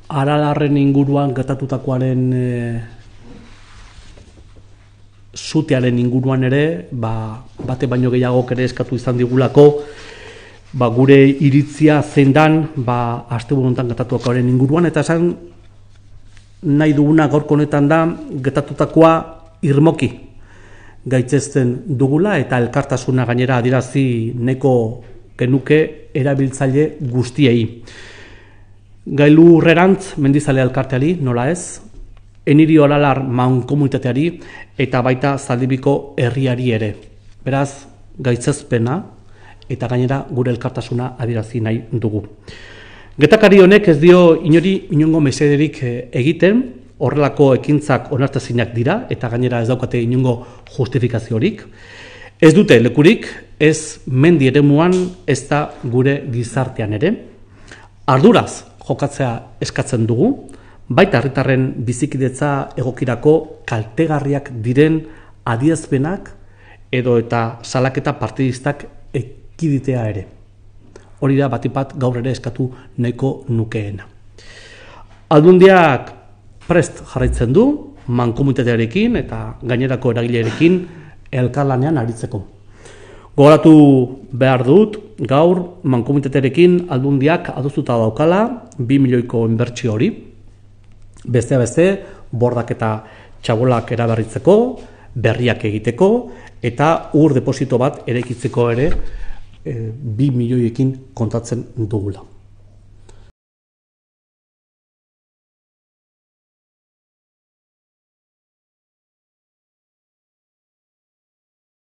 Aralarren inguruan gertatutakoaren zutearen inguruan ere, bate baino gehiagok ere eskatu izan digulako, gure iritzia zein dan, asteburu honetan gertatutakoaren inguruan, eta esan nahi duguna gaurko honetan da, gertatutakoa irmoki gaitzesten dugula, eta elkartasuna gainera adierazi nahiko genuke erabiltzaile guztiei. Gailurrerantz Mendizale elkarteari, nola ez, Enirio Aralar mankomunitateari eta baita Zaldibiko herriari ere. Beraz, gaitzezpena eta gainera gure elkartasuna adierazi nahi dugu. Gertakari honek ez dio inongo mesederik egiten, horrelako ekintzak onartezinak dira eta gainera ez daukate inongo justifikaziorik. Ez dute lekurik, ez mendi eremuan, ez da gure gizartean ere. Arduraz jokatzea eskatzen dugu, baita herritarren bizikidetza egokirako kaltegarriak diren adierazpenak edo eta salaketa partidistak ekiditea ere. Hori da batipat gaur ere eskatu nahiko nukeena. Aldundiak prest jarraitzen du, mankomunitatearekin eta gainerako eragilearekin elkarlanean aritzeko. Gogoratu behar dut, gaur mankomunitatearekin Aldundiak adostuta daukala 2 milioiko inbertsio hori. Beste bordak eta txabolak eraberritzeko, berriak egiteko eta ur deposito bat eraikitzeko ere 2 milioiekin kontatzen dugula.